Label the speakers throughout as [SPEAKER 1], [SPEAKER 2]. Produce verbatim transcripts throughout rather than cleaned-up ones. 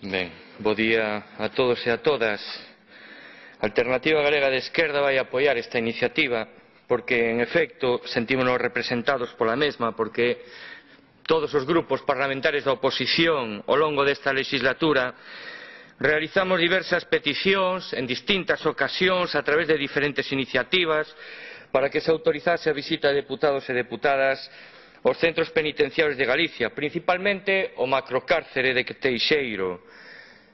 [SPEAKER 1] Ben, bo día a todos e a todas. A Alternativa Galega de Esquerda vai apoiar esta iniciativa porque, en efecto, sentímonos representados pola mesma, porque todos os grupos parlamentarios da oposición ao longo desta legislatura realizamos diversas peticións en distintas ocasións a través de diferentes iniciativas para que se autorizase a visita de deputados e deputadas aos centros penitenciarios de Galicia, principalmente o macrocárcere de Teixeiro.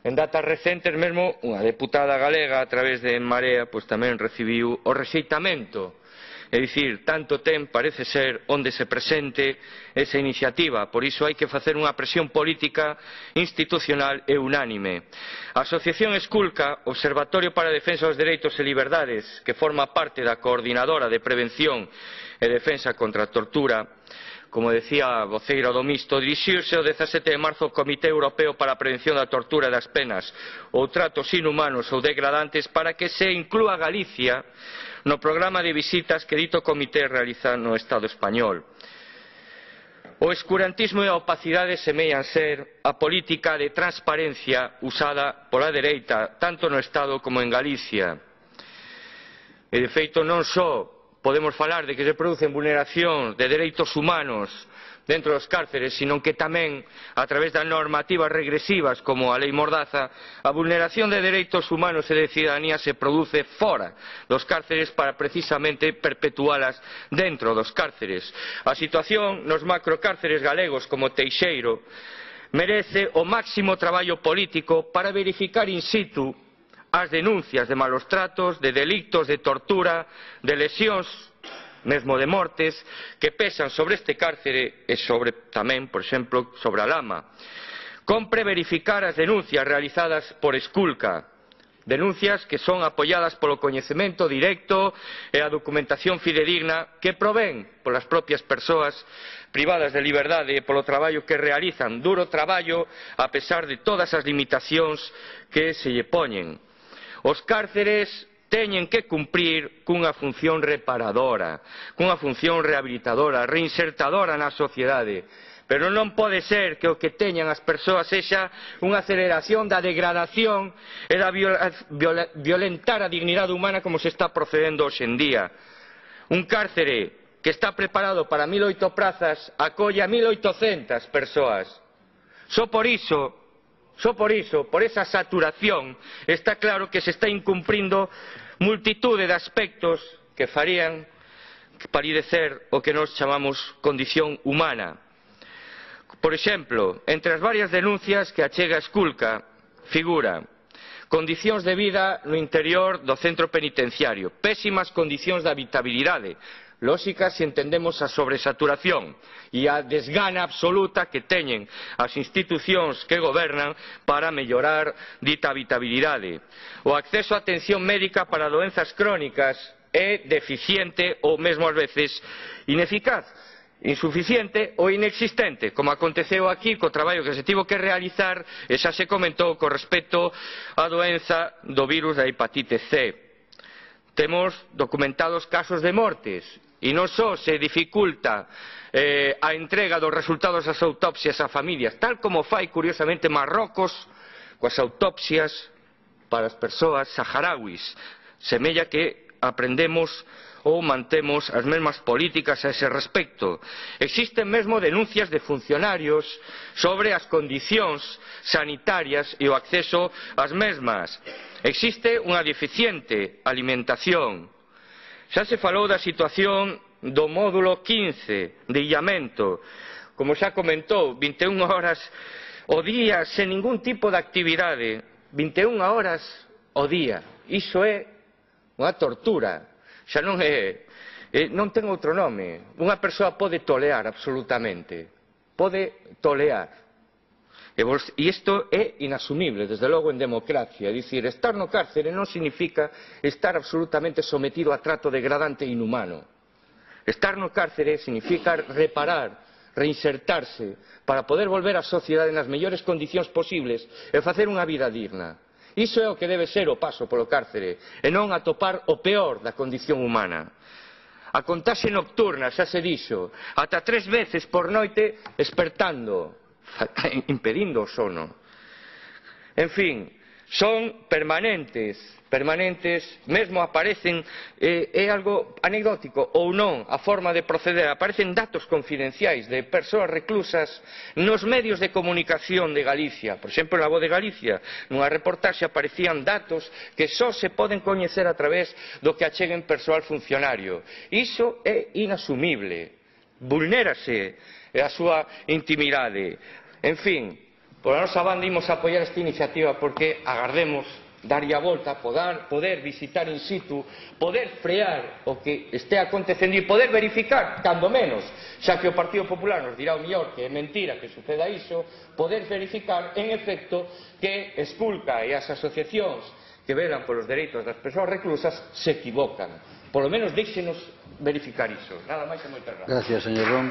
[SPEAKER 1] En datas recentes mesmo unha deputada galega a través de En Marea pois tamén recibiu o rexeitamento. É dicir, tanto ten, parece ser, onde se presente esa iniciativa. Por iso hai que facer unha presión política, institucional e unánime. A Asociación Esculca, Observatorio para a Defensa dos Dereitos e Liberdades, que forma parte da Coordinadora de Prevención e Defensa contra a Tortura, como decía a voceira do Mixto, dirixiuse o dezasete de marzo ao Comité Europeo para a Prevención da Tortura e das Penas ou tratos inhumanos ou degradantes para que se inclúa Galicia no programa de visitas que dito comité realiza no Estado español. O escurantismo e a opacidade semellan ser a política de transparencia usada pola dereita tanto no Estado como en Galicia. E de feito non só podemos falar de que se producen vulneracións de dereitos humanos dentro dos cárceres, sino que tamén, a través das normativas regresivas como a Lei Mordaza, a vulneración de dereitos humanos e de cidadanía se produce fora dos cárceres para precisamente perpetualas dentro dos cárceres. A situación nos macrocárceres galegos como Teixeiro merece o máximo traballo político para verificar in situ as denuncias de malos tratos, de delictos de tortura, de lesións, mesmo de mortes, que pesan sobre este cárcere e sobre tamén, por exemplo, sobre a Lama. Compre verificar as denuncias realizadas por Esculca, denuncias que son apoiadas polo coñecemento directo e a documentación fidedigna que provén polas propias persoas privadas de liberdade e polo traballo que realizan, duro traballo a pesar de todas as limitacións que se lle poñen. Os cárceres teñen que cumprir cunha función reparadora, cunha función rehabilitadora, reinsertadora na sociedade. Pero non pode ser que o que teñan as persoas sexa unha aceleración da degradación e da violentar a dignidade humana como se está procedendo hoxe en día. Un cárcere que está preparado para mil oito prazas acolle a mil oitocentas persoas. Só por iso Só por iso, por esa saturación, está claro que se está incumprindo multitude de aspectos que farían palidecer o que nós chamamos condición humana. Por exemplo, entre as varias denuncias que achega Esculca, figura condicións de vida no interior do centro penitenciario, pésimas condicións de habitabilidade, lóxicas se entendemos a sobresaturación e a desgana absoluta que teñen as institucións que gobernan para mellorar dita habitabilidade. O acceso a atención médica para doenzas crónicas é deficiente ou mesmo ás veces ineficaz, insuficiente ou inexistente, como aconteceu aquí co traballo que se tivo que realizar e xa se comentou con respecto á doenza do virus da hepatite C. Temos documentados casos de mortes e non só se dificulta eh, a entrega dos resultados das autopsias a familias, tal como fai curiosamente Marrocos coas autopsias para as persoas saharauis. Semella que aprendemos ou mantemos as mesmas políticas a ese respecto. Existen mesmo denuncias de funcionarios sobre as condicións sanitarias e o acceso ás mesmas. Existe unha deficiente alimentación. Xa se falou da situación do módulo quince de illamento. Como xa comentou, vinte e unha horas ao día sen ningún tipo de actividade. vinte e unha horas ao día. Iso é unha tortura. Xa non é, é non ten outro nome. Unha persoa pode tolear absolutamente. Pode tolear. E isto é inasumible, desde logo, en democracia. É dicir, estar no cárcere non significa estar absolutamente sometido a trato degradante e inhumano. Estar no cárcere significa reparar, reinsertarse, para poder volver á sociedade nas mellores condicións posibles e facer unha vida digna. Iso é o que debe ser o paso polo cárcere, e non atopar o peor da condición humana. A contaxe nocturna, xa se dixo, ata tres veces por noite espertando, impedindo o sono. En fin, son permanentes, permanentes, mesmo aparecen, eh, é algo anecdótico ou non, a forma de proceder, aparecen datos confidenciais de persoas reclusas nos medios de comunicación de Galicia. Por exemplo, na Voz de Galicia, nunha reportaxe aparecían datos que só se poden coñecer a través do que acheguen persoal funcionario. Iso é inasumible, vulnérase a súa intimidade. En fin, por a nosa banda imos a apoiar esta iniciativa porque agardemos darlle a volta, poder, poder visitar in situ, poder frear o que este acontecendo e poder verificar, cando menos, xa que o Partido Popular nos dirá o mellor que é mentira que suceda iso, poder verificar en efecto que Esculca e as asociacións que velan polos dereitos das persoas reclusas se equivocan. Por lo menos déixenos verificar iso. Nada máis e moitas gracias.
[SPEAKER 2] Gracias, señor Ron.